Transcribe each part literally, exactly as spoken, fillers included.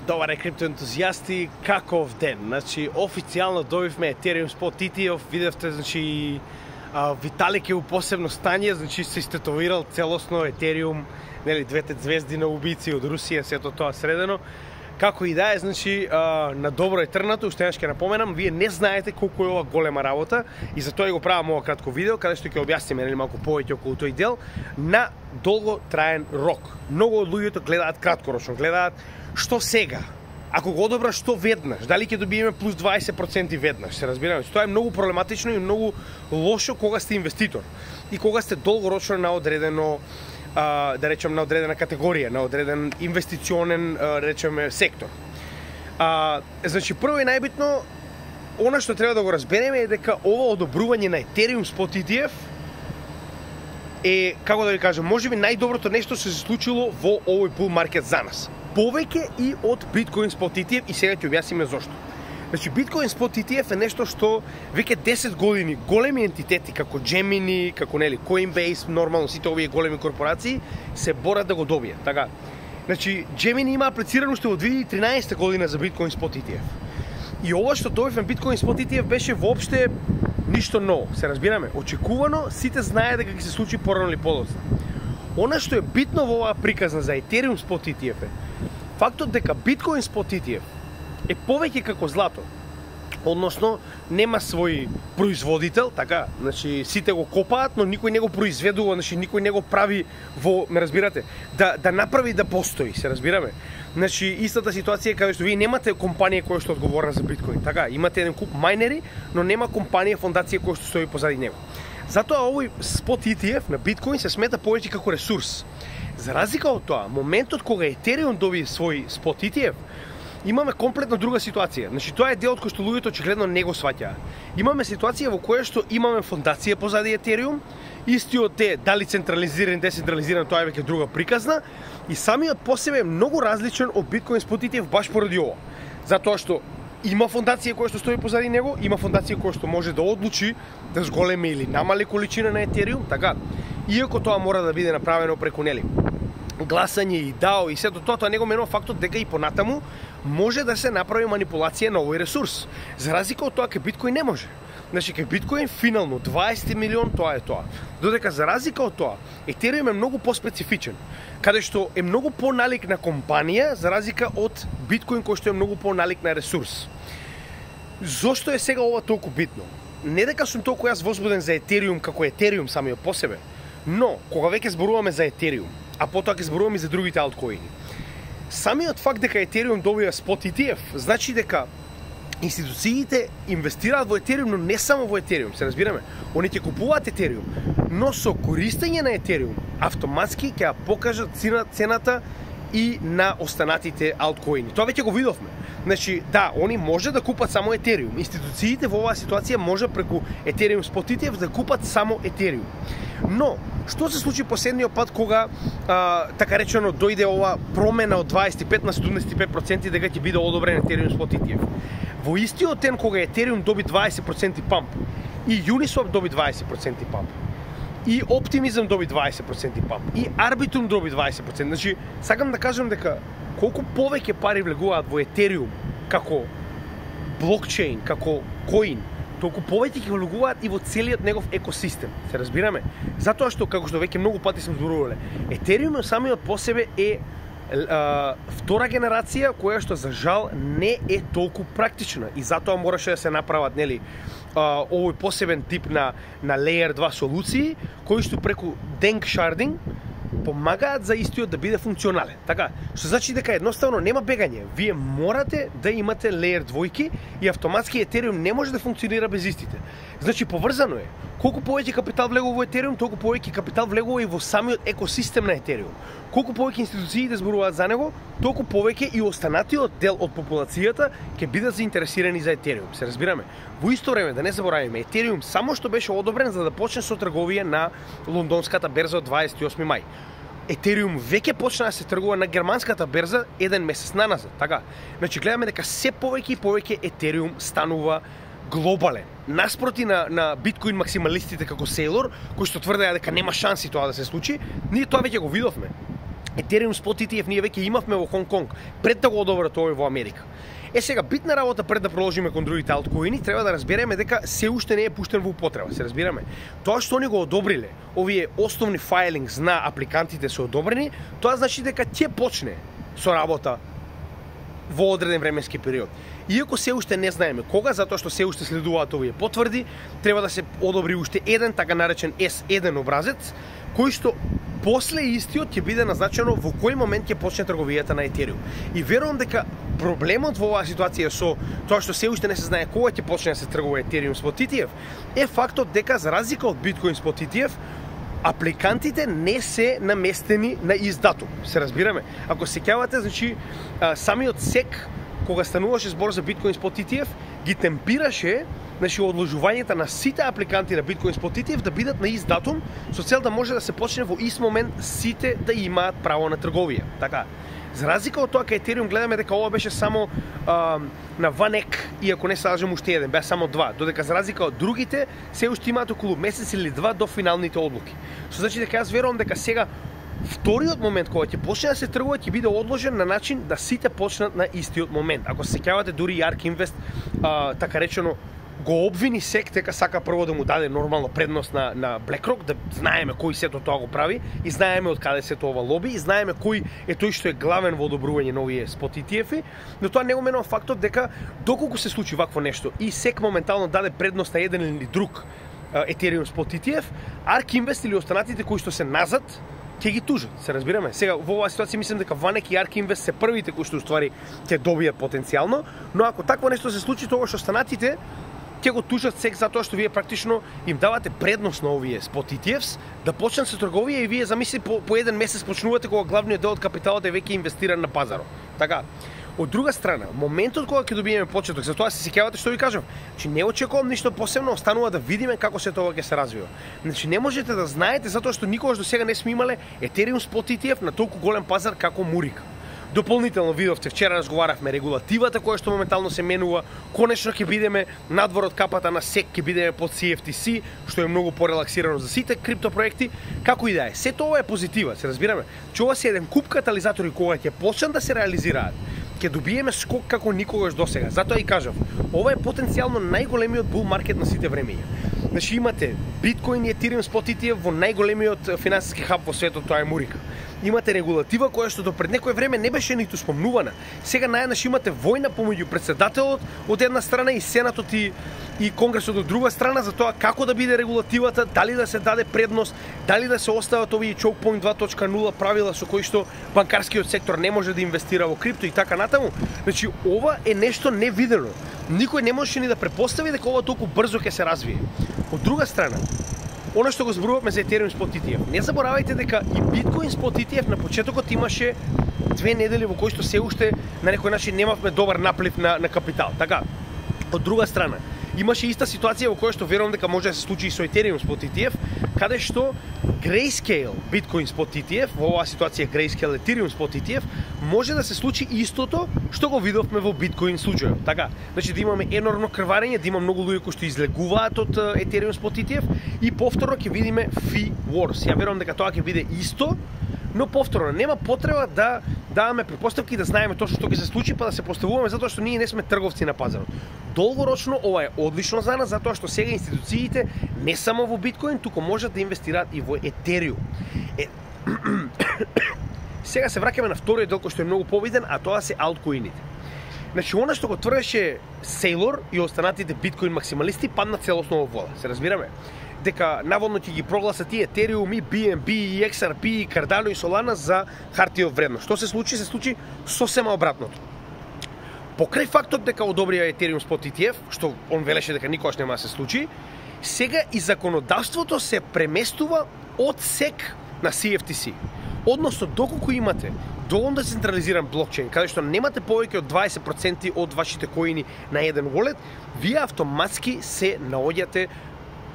Добар е, криптоентузијасти, каков ден? Значи, официјално добивме Ethereum Spot и ти еф, видевте, значи, а, Виталик е у посебно стање, значи се истетовирал целосно Ethereum, нели, двете звезди на убици од Русија, сето тоа средено. Како и да е, значи, а, на добро е трнато, уште еднаш ќе напоменам, вие не знаете колку е ова голема работа и затоа го правам ова кратко видео, каде што ќе објасниме нели малку повеќе околу тој дел на долго траен рок. Многу од луѓето гледаат краткорочно, гледаат што сега. Ако го одобраш што веднаш, дали ќе добиеме плюс дваесет проценти веднаш, се разбираме. Тоа е многу проблематично и многу лошо кога сте инвеститор и кога сте долгорочно на одредено Uh, да речем на одредена категорија, на одреден инвестиционен, uh, речеме, сектор. Uh, значи, прво и најбитно, она што треба да го разбереме е дека ова одобрување на Ethereum Spot и ти еф е, како да ви кажам, можеби најдоброто нешто се случило во овој bull market за нас. Повеќе и од Bitcoin Spot и ти еф и сега ќе објасниме зошто. Значи, Bitcoin Spot и ти еф е нешто што веќе десет години големи ентитети како Gemini, како нели Coinbase, нормално сите овие големи корпорации се борат да го добијат. Така. Значи, Gemini има аплицирано уште во две илјади и тринаесетта година за Bitcoin Spot и ти еф. И ова што добивме Bitcoin Spot и ти еф беше воопште ништо ново, се разбираме. Очекувано, сите знае дека ќе се случи порано или подоцна. Она што е битно во оваа приказна за Ethereum Spot и ти еф е фактот дека Bitcoin Spot и ти еф е повеќе како злато. Односно, нема свој производител, така, значи сите го копаат, но никој не го произведува, значи никој не го прави во, ме разбирате, да да направи да постои, се разбираме. Значи истата ситуација каде што вие немате компанија која што е одговорна за биткоин, така, имате еден куп мајнери, но нема компанија, фондација која што стои позади него. Затоа овој Spot и ти еф на биткоин се смета повеќе како ресурс. За разлика од тоа, моментот кога Ethereum доби свој Spot и ти еф, имаме комплетно друга ситуација. Значи, тоа е делот кој што луѓето очигледно не го сваќаат. Имаме ситуација во која што имаме фондација позади Ethereum, истиот е дали централизиран, децентрализиран, тоа е веќе друга приказна, и самиот по себе е многу различен од Bitcoin Spot и ти еф баш поради ова. Затоа што има фондација која што стои позади него, има фондација која што може да одлучи да зголеми или намали количина на Ethereum, така. Иако тоа мора да биде направено преку нели гласање и дао и сето тоа, тоа не го менува фактот дека и понатаму може да се направи манипулација на овој ресурс. За разлика од тоа кај биткоин не може. Значи кај биткоин финално дваесет милион, тоа е тоа. Додека за разлика од тоа, Ethereum е многу поспецифичен, каде што е многу поналик на компанија за разлика од биткоин кој што е многу поналик на ресурс. Зошто е сега ова толку битно? Не дека сум толку јас возбуден за Ethereum како Ethereum самиот по себе, но кога веќе зборуваме за Ethereum, а потоа ќе зборуваме и за другите алткоини, самиот факт дека Ethereum добија Spot и ти еф значи дека институциите инвестираат во Ethereum, но не само во Ethereum, се разбираме. Они ќе купуваат Ethereum, но со користење на Ethereum автоматски ќе ја покажат цената и на останатите алткоини. Тоа веќе го видовме. Значи, да, они може да купат само Ethereum. Институциите во оваа ситуација може преку Ethereum Spot и ти еф да купат само Ethereum. Но, што се случи последниот пат кога, а, така речено, дојде ова промена од дваесет и пет на седумдесет и пет проценти дека ќе биде одобрен Ethereum Spot и ти еф? Во истиот ден кога Ethereum доби дваесет проценти памп и Uniswap доби дваесет проценти памп, и Optimism доби дваесет проценти памп, и Arbitrum доби дваесет проценти. Значи, сакам да кажам дека колку повеќе пари влегуваат во Ethereum како блокчейн, како коин, толку повеќе ќе влегуваат и во целиот негов екосистем. Се разбираме? Затоа што, како што веќе многу пати сум зборувале, Ethereum самиот по себе е Uh, втора генерација која што за жал не е толку практична и затоа мораше да се направат нели uh, овој посебен тип на на Layer два солуции кои што преку Dank Sharding помагаат за истиот да биде функционален. Така, што значи дека едноставно нема бегање. Вие морате да имате Layer двојки и автоматски Ethereum не може да функционира без истите. Значи поврзано е. Колку повеќе капитал влегува во Ethereum, толку повеќе капитал влегува и во самиот екосистем на Ethereum. Колку повеќе институции да зборуваат за него, толку повеќе и останатиот дел од популацијата ќе бидат заинтересирани за Ethereum. Се разбираме? Во исто време, да не забораваме, Ethereum само што беше одобрен за да почне со трговија на лондонската берза од дваесет и осми мај. Ethereum веќе почна да се тргува на германската берза еден месец наназад, така. Значи гледаме дека се повеќе и повеќе Ethereum станува глобален. Наспроти на, на биткоин максималистите како Saylor, кои што тврдеа дека нема шанси тоа да се случи, ние тоа веќе го видовме. Ethereum Spot И Ти Еф ние веќе имавме во Хонг Конг пред да го одобрат овој во Америка. Е сега, битна работа пред да продолжиме кон другите алткоини, треба да разбереме дека се уште не е пуштен во употреба, се разбираме. Тоа што они го одобриле, овие основни файлингс на апликантите се одобрени, тоа значи дека ќе почне со работа во одреден временски период. Иако се уште не знаеме кога, затоа што се уште следуваат овие потврди, треба да се одобри уште еден така наречен Ес еден образец, кој што после истиот ќе биде назначено во кој момент ќе почне трговијата на Ethereum. И верувам дека проблемот во оваа ситуација со тоа што се уште не се знае кога ќе почне да се тргува Ethereum Spot И Ти Еф е фактот дека за разлика од Bitcoin Spot И Ти Еф апликантите не се наместени на ист датум. Се разбираме? Ако се сеќавате, значи самиот сек кога стануваше збор за Bitcoin Spot И Ти Еф ги темпираше значи одложувањето на сите апликанти на Bitcoin Spot И Ти Еф да бидат на ист датум со цел да може да се почне во ист момент сите да имаат право на трговија. Така. За разлика од тоа кај Ethereum гледаме дека ова беше само а, на ванек, иако не се лажам уште еден, беа само два, додека за разлика од другите се уште имаат околу месец или два до финалните одлуки. Со значи дека јас верувам дека сега вториот момент кога ќе почне да се тргува ќе биде одложен на начин да сите почнат на истиот момент. Ако се сеќавате, дури и Ark Invest а, така речено го обвини сек дека сака прво да му даде нормална предност на на BlackRock, да знаеме кој сето тоа го прави и знаеме од каде се тоа лоби и знаеме кој е тој што е главен во одобрување на овие Spot И Ти Еф-и, но тоа не го менува фактот дека доколку се случи вакво нешто и сек моментално даде предност на еден или друг Ethereum Spot И Ти Еф, Ark Invest или останатите кои што се назад ќе ги тужат, се разбираме. Сега во оваа ситуација мислам дека Vanek и Ark Invest се првите кои што уствари ќе добијат потенцијално, но ако такво нешто се случи, тогаш останатите ќе го тужат сек затоа што вие практично им давате предност на овие Spot И Ти Ефс да почнат со трговија и вие замисли по, по еден месец почнувате кога главниот дел од капиталот е веќе инвестиран на пазарот. Така. Од друга страна, моментот кога ќе добиеме почеток, затоа се сеќавате што ви кажам, значи не очекувам ништо посебно, останува да видиме како се тоа ќе се развива. Значи не можете да знаете затоа што никогаш до сега не сме имале Ethereum Spot И Ти Еф на толку голем пазар како Мурика. Дополнително видовте, вчера разговаравме регулативата која што моментално се менува, конечно ќе бидеме надвор од капата на сек, ќе бидеме под Си Еф Ти Си, што е многу порелаксирано за сите криптопроекти, како и да е. Сето ова е позитива, се разбираме. Че ова се еден куп катализатори кога ќе почнат да се реализираат, ќе добиеме скок како никогаш досега. Затоа и кажав, ова е потенцијално најголемиот бул маркет на сите времења. Значи имате Bitcoin и Ethereum Spot И Ти Еф во најголемиот финансиски хаб во светот, тоа е Мурика. Имате регулатива која што до пред некое време не беше ниту спомнувана. Сега најнаш имате војна помеѓу председателот од една страна и Сенатот и, и Конгресот од друга страна за тоа како да биде регулативата, дали да се даде предност, дали да се остават овие choke point два точка нула правила со кои што банкарскиот сектор не може да инвестира во крипто и така натаму. Значи ова е нешто невидено. Никој не можеше ни да препостави дека ова толку брзо ќе се развие. Од друга страна, она што го зборувавме за Ethereum Spot И Ти Еф. Не заборавајте дека и Bitcoin Spot И Ти Еф на почетокот имаше две недели во кои што се уште на некој начин немавме добар наплив на, на капитал. Така, од друга страна, имаше иста ситуација во која што верувам дека може да се случи и со Ethereum Spot И Ти Еф, каде што Grayscale Bitcoin Spot И Ти Еф, во оваа ситуација Grayscale Ethereum Spot И Ти Еф, може да се случи истото што го видовме во Bitcoin случајот. Така, значи да имаме енормно крварење, да има многу луѓе кои што излегуваат од Ethereum Spot И Ти Еф и повторно ќе видиме Fee Wars. Ја верувам дека тоа ќе биде исто, но повторно нема потреба да даваме претпоставки да знаеме точно што ќе се случи, па да се поставуваме затоа што ние не сме трговци на пазарот. Долгорочно ова е одлично за нас затоа што сега институциите не само во Биткоин, туку можат да инвестираат и во Етериум. Е... Сега се враќаме на вториот дел кој што е многу победен, а тоа се алткоините. Значи, она што го тврдеше Сейлор и останатите биткоин максималисти падна целосно во вода. Се разбираме? Дека наводно ќе ги прогласат и Етериум, и Би Ен Би, и Екс Ар Пи, и Cardano и Solana за хартија од вредност. Што се случи? Се случи сосема обратното. Покрај фактот дека одобрија Ethereum Spot И Ти Еф, што он велеше дека никогаш нема да се случи, сега и законодавството се преместува од сек на Си Еф Ти Си. Односно, доколку имате доволно децентрализиран блокчейн, каде што немате повеќе од дваесет проценти од вашите коини на еден wallet, вие автоматски се наоѓате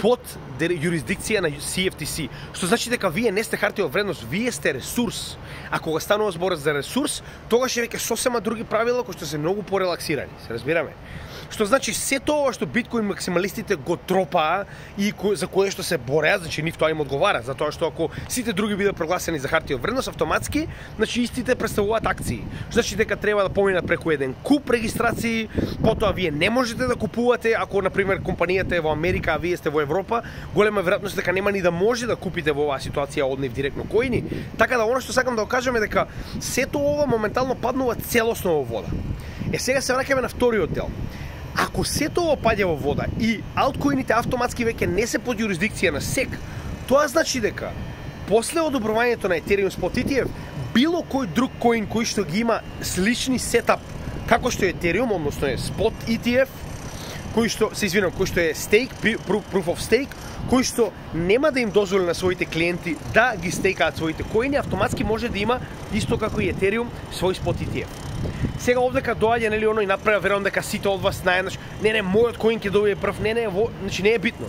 под юрисдикција на Си Еф Ти Си, што значи дека вие не сте хартија од вредност, вие сте ресурс. А кога станува збор за ресурс, тогаш е веќе сосема други правила кои што се многу порелаксирани, се разбираме. Што значи се тоа што биткоин максималистите го тропаа и ко, за кое што се бореат, значи нив тоа им одговара, затоа што ако сите други бидат прогласени за хартија од вредност, автоматски, значи истите представуваат акции. Што значи дека треба да поминат преку еден куп регистрации, потоа вие не можете да купувате, ако на пример компанијата е во Америка, а вие сте во Европа, голема веројатност дека нема ни да може да купите во оваа ситуација од нив директно коини. Така да она што сакам да го кажам е дека сето ова моментално паднува целосно во вода. Е сега се враќаме на вториот дел. Ако сето ова паѓа во вода и алткоините автоматски веќе не се под юрисдикција на Сек, тоа значи дека после одобрувањето на Ethereum Spot И Ти Еф, било кој друг коин кој што ги има слични сетап како што е Ethereum, односно е Spot И Ти Еф, кој што се извинам, кој што е stake, proof of stake, кој што нема да им дозволи на своите клиенти да ги стейкаат своите коини, автоматски може да има исто како и Ethereum свој Spot И Ти Еф. Сега овдека доаѓа нели оно и направи, верувам дека сите од вас знаат, не не мојот коин ќе добие прв, не не, во, значи не е битно.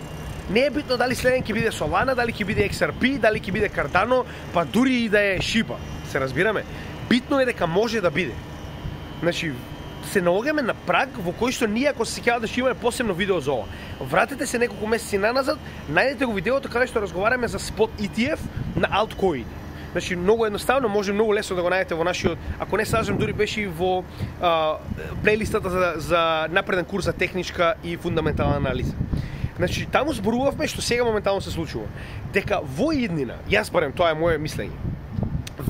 Не е битно дали следен ќе биде Solana, дали ќе биде Икс Ар Пи, дали ќе биде Cardano, па дури и да е Shiba. Се разбираме? Битно е дека може да биде. Значи се наоѓаме на праг во кој што ние, ако се сеќавате, ќе имаме посебно видео за ова. Вратете се неколку месеци наназад, најдете го видеото каде што разговараме за Spot И Ти Еф на алткоини. Значи многу едноставно, може многу лесно да го најдете во нашиот, ако не сажам, дури беше и во а, плейлистата за, за напреден курс за техничка и фундаментална анализа. Значи таму зборувавме што сега моментално се случува, дека во иднина, јас барем тоа е моје мислење,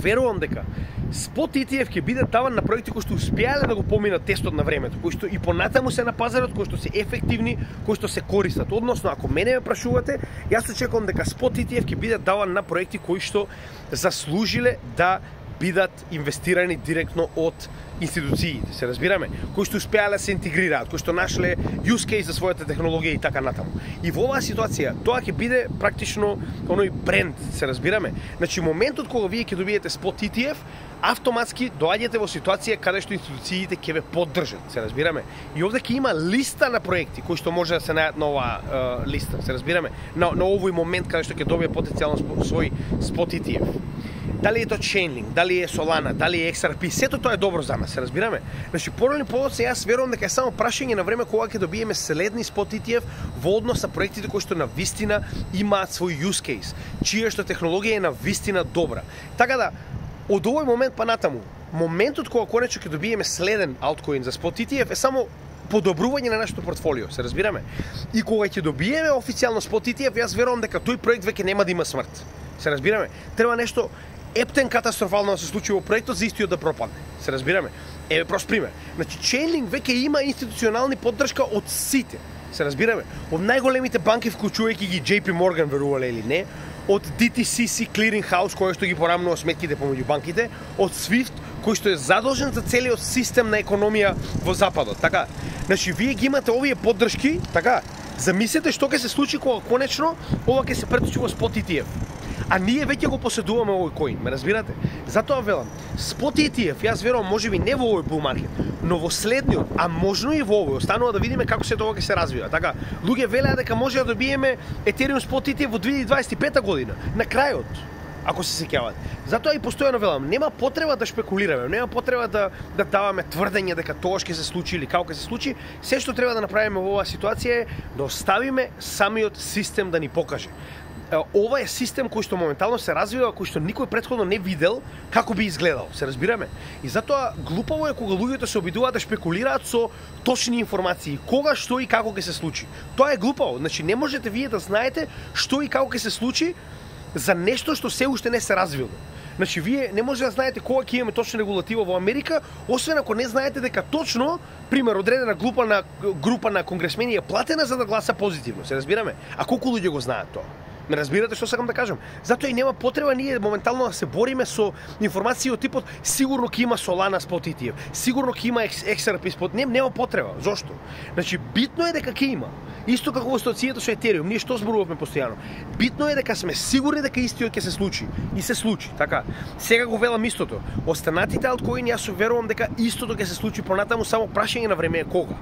верувам дека Spot И Ти Еф ќе биде даван на проекти кои што успеале да го поминат тестот на времето, кои што и понатаму се на пазарот, кои што се ефективни, кои што се користат. Односно, ако мене ме прашувате, јас очекувам дека Spot И Ти Еф ќе биде даван на проекти кои што заслужиле да бидат инвестирани директно од институциите, се разбираме, кои што успеале да се интегрираат, кои што нашле use case за својата технологија и така натаму. И во оваа ситуација тоа ќе биде практично оној бренд, се разбираме. Значи моментот кога вие ќе добиете Spot И Ти Еф, автоматски доаѓате во ситуација каде што институциите ќе ве поддржат, се разбираме. И овде ќе има листа на проекти кои што може да се најдат на оваа uh, листа, се разбираме, на, на овој момент каде што ќе добие потенцијално свој Spot И Ти Еф. Дали е тоа Chainlink, дали е Solana, дали е Икс Ар Пи, сето тоа е добро за нас, се разбираме. Значи, порано подоцна, јас верувам дека е само прашање на време кога ќе добиеме следни Spot И Ти Еф во однос на проектите кои што на вистина имаат свој use case, чија што технологија е на вистина добра. Така да, од овој момент па натаму, моментот кога конечно ќе добиеме следен алткоин за Spot И Ти Еф е само подобрување на нашето портфолио, се разбираме. И кога ќе добиеме официјално Spot И Ти Еф, јас верувам дека тој проект веќе нема да има смрт. Се разбираме. Треба нешто ептен катастрофално да се случи во проектот за истиот да пропадне. Се разбираме. Еве прост пример. Значи Chainlink веќе има институционални поддршка од сите. Се разбираме. Од најголемите банки, вклучувајќи ги Џејпи Морган, верувале или не, од Ди Ти Си Си Clearing House, кој што ги порамнува сметките помеѓу банките, од Swift, кој што е задолжен за целиот систем на економија во западот. Така, значи вие ги имате овие поддршки, така. Замислете што ќе се случи кога конечно ова ќе се преточи во Spot И Ти Еф. А ние веќе го поседуваме овој коин, ме разбирате? Затоа велам, Spot И Ти Еф, јас верувам можеби не во овој bull market, но во следниот, а можно и во овој, останува да видиме како се тоа ќе се развива. Така, луѓе велеа дека може да добиеме Ethereum Spot И Ти Еф во две илјади дваесет и пета година, на крајот, ако се сеќавате. Затоа и постојано велам, нема потреба да шпекулираме, нема потреба да да даваме тврдење дека тоа ќе се случи или како ќе се случи. Се што треба да направиме во оваа ситуација е да оставиме самиот систем да ни покаже. Ова е систем кој што моментално се развива, кој што никој претходно не видел како би изгледал, се разбираме. И затоа глупаво е кога луѓето се обидуваат да шпекулираат со точни информации, кога, што и како ќе се случи. Тоа е глупаво, значи не можете вие да знаете што и како ќе се случи за нешто што се уште не се развило. Значи вие не може да знаете кога ќе имаме точна регулатива во Америка, освен ако не знаете дека точно, пример, одредена група на група на конгресмени е платена за да гласа позитивно, се разбираме. А колку луѓе го знаат тоа? Ме разбирате што сакам да кажам? Затоа и нема потреба ние моментално да се бориме со информации од типот сигурно ќе има Solana спот и ти еф, сигурно ќе има Икс Ар Пи спот. Не, нема потреба. Зошто? Значи битно е дека ќе има. Исто како во ситуацијата со Ethereum, ние што зборуваме постојано. Битно е дека сме сигурни дека истиот ќе се случи и се случи, така. Сега го велам истото. Останатите алткоини јас верувам дека истото ќе се случи понатаму, само прашање на време е кога.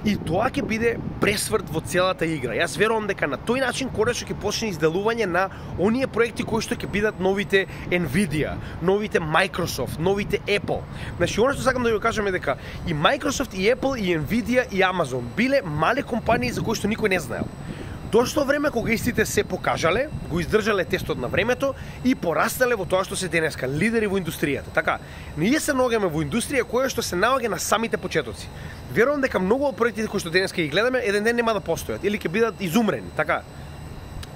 И тоа ќе биде пресврт во целата игра. Јас верувам дека на тој начин конечно ќе почне изделување на оние проекти кои што ќе бидат новите Nvidia, новите Microsoft, новите Apple. Значи, оно што сакам да ви кажам е дека и Microsoft, и Apple, и Nvidia, и Amazon биле мали компании за кои што никој не знаел. Дошло време кога истите се покажале, го издржале тестот на времето и порастале во тоа што се денеска лидери во индустријата. Така, ние се наоѓаме во индустрија која што се наоѓа на самите почетоци. Верувам дека многу од проектите кои што денеска ги гледаме еден ден нема да постојат или ќе бидат изумрени, така.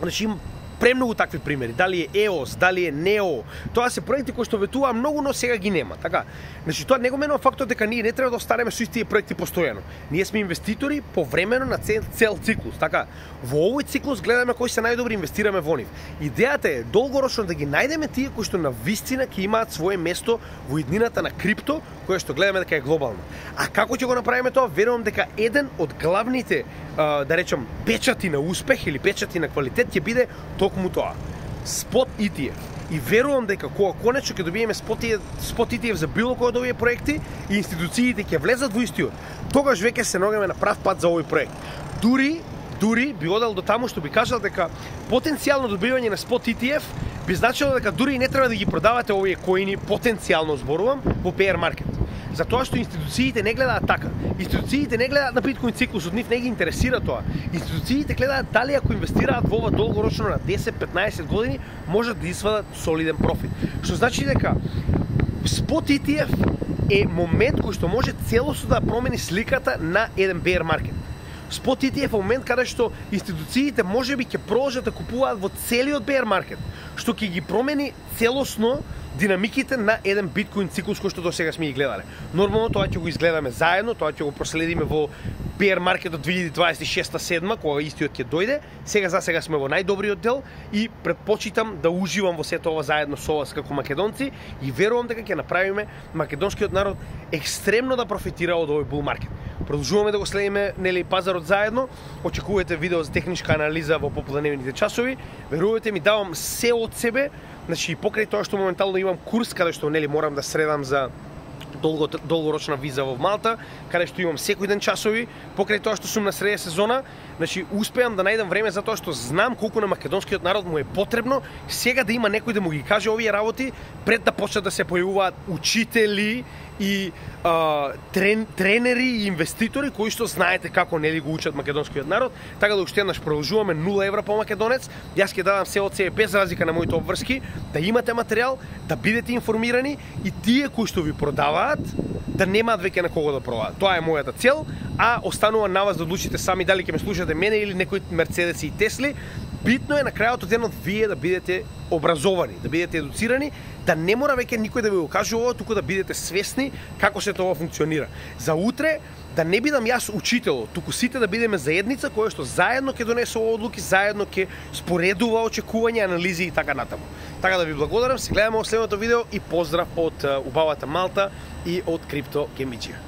Значи има премногу такви примери, дали е и о ес, дали е Нео, тоа се проекти кои што ветуваа многу, но сега ги нема, така. Значи тоа не го менува фактот дека ние не треба да останеме со истите проекти постојано. Ние сме инвеститори повремено на цел, цел циклус, така. Во овој циклус гледаме кои се најдобри, инвестираме во нив. Идејата е долгорочно да ги најдеме тие кои што на вистина ќе имаат свое место во иднината на крипто, која што гледаме дека е глобална. А како ќе го направиме тоа? Верувам дека еден од главните, да речам, печати на успех или печати на квалитет ќе биде токму тоа. Спот и ти еф. И верувам дека кога конечно ќе добиеме спот и ти еф за било кој од овие проекти и институциите ќе влезат во истиот, тогаш веќе се наоѓаме на прав пат за овој проект. Дури дури би одел до таму што би кажал дека потенцијално добивање на спот и ти еф би значило дека дури и не треба да ги продавате овие коини, потенцијално зборувам, во bear market. Затоа што институциите не гледаат така. Институциите не гледаат на биткоин циклусот, нив не ги интересира тоа. Институциите гледаат дали ако инвестираат во ова долгорочно на десет-петнаесет години, можат да извадат солиден профит. Што значи дека спот и ти еф е момент кој што може целосно да промени сликата на еден bear market. Спот и ти еф е момент каде што институциите можеби ќе продолжат да купуваат во целиот bear market, што ќе ги промени целосно динамиките на еден биткоин циклус кој што до сега сме ги гледале. Нормално тоа ќе го изгледаме заедно, тоа ќе го проследиме во bear market од две илјади дваесет и шеста седма, кога истиот ќе дојде. Сега за сега сме во најдобриот дел и предпочитам да уживам во сето ова заедно со вас како македонци и верувам дека ќе направиме македонскиот народ екстремно да профитира од овој bull market. Продолжуваме да го следиме нели пазарот заедно. Очекувате видео за техничка анализа во поподневните часови. Верувате ми, давам се од себе. Значи покрај тоа што моментално имам курс каде што нели морам да средам за долго, долгорочна виза во Малта, каде што имам секој ден часови, покрај тоа што сум на среде сезона, значи успеам да најдам време затоа што знам колку на македонскиот народ му е потребно сега да има некој да му ги каже овие работи пред да почнат да се појавуваат учители и а, трен, тренери и инвеститори кои што знаете како нели го учат македонскиот народ. Така да уште еднаш продолжуваме нула евра по македонец. Јас ќе дадам се од себе без разлика на моите обврски, да имате материјал, да бидете информирани и тие кои што ви продаваат да немаат веќе на кого да продаваат. Тоа е мојата цел, а останува на вас да одлучите сами дали ќе ме слушате мене или некои Мерцедеси и Тесли. Битно е на крајот од денот вие да бидете образовани, да бидете едуцирани, да не мора веќе никој да ви го каже ова, туку да бидете свесни како се тоа функционира. За утре да не бидам јас учител, туку сите да бидеме заедница која што заедно ќе донесува одлуки, заедно ќе споредува очекувања, анализи и така натаму. Така да ви благодарам, се гледаме во следното видео и поздрав од убавата Малта и од Крипто Гемиџија.